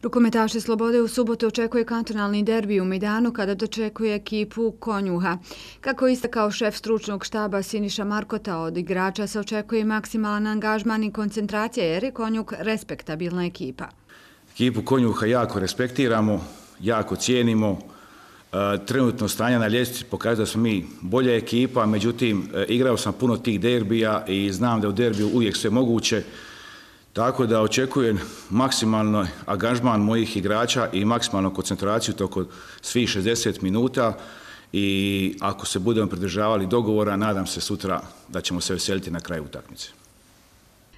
Rukometaše Slobode u subotu očekuje kantonalni derbi u Mejdanu kada dočekuje ekipu Konjuha. Kako je istakao šef stručnog štaba Siniša Markota, od igrača se očekuje maksimalan angažman i koncentracija jer je Konjuh respektabilna ekipa. Ekipu Konjuha jako respektiramo, jako cijenimo. Trenutno stanje na ljestvici pokazuje da smo mi bolja ekipa, međutim igrao sam puno tih derbija i znam da u derbiju uvijek sve moguće. Tako da očekujem maksimalno angažman mojih igrača i maksimalnu koncentraciju tokom svih 60 minuta i ako se budemo pridržavali dogovora, nadam se sutra da ćemo se veseliti na kraju utakmice.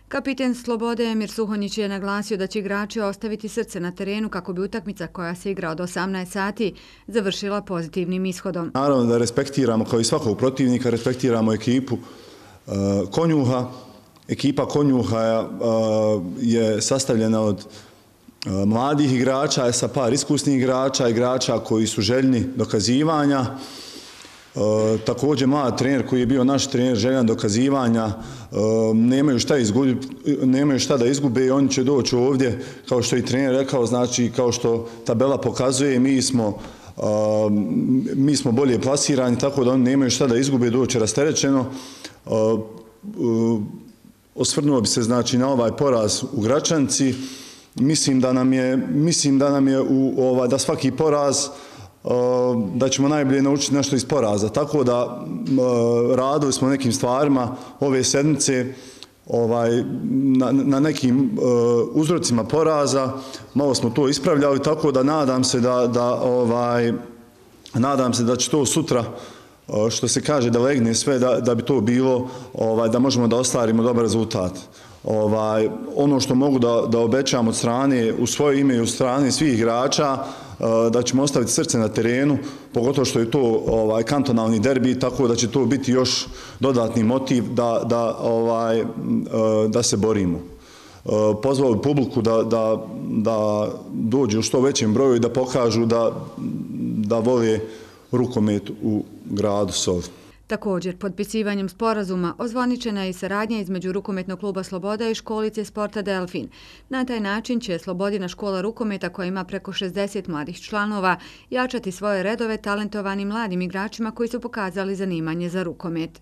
Kapiten Slobode Emir Suhonjić je naglasio da će igrači ostaviti srce na terenu kako bi utakmica koja se igra od 18 sati završila pozitivnim ishodom. Naravno da respektiramo, kao i svakog protivnika, respektiramo ekipu Konjuha. Ekipa Konjuha je sastavljena od mladih igrača, sa par iskusnih igrača, igrača koji su željni dokazivanja. Također mlad trener koji je bio naš trener željan dokazivanja, nemaju šta da izgube i oni će doći ovdje, kao što je i trener rekao, znači kao što tabela pokazuje, mi smo bolje plasirani, tako da oni nemaju šta da izgube, doći rasterećeno. Osvrnuo bi se znači na ovaj poraz u Gračanci. Mislim da nam je da svaki poraz da ćemo najbolje naučiti nešto iz poraza. Tako da radili smo nekim stvarima ove sedmice na nekim uzrocima poraza. Malo smo to ispravljali, tako da nadam se da će to sutra, što se kaže, da legne sve, da bi to bilo, da možemo da ostvarimo dobar rezultat. Ono što mogu da obećam od strane, u svoje ime i u strane svih igrača, da ćemo ostaviti srce na terenu, pogotovo što je to kantonalni derbi, tako da će to biti još dodatni motiv da se borimo. Pozvao bi publiku da dođu u što većem broju i da pokažu da vole rukomet u gradu Sovi. Također, potpisivanjem sporazuma ozvaničena je i saradnja između Rukometnog kluba Sloboda i školice sporta Delfin. Na taj način će Slobodina škola rukometa, koja ima preko 60 mladih članova, jačati svoje redove talentovanim mladim igračima koji su pokazali zanimanje za rukomet.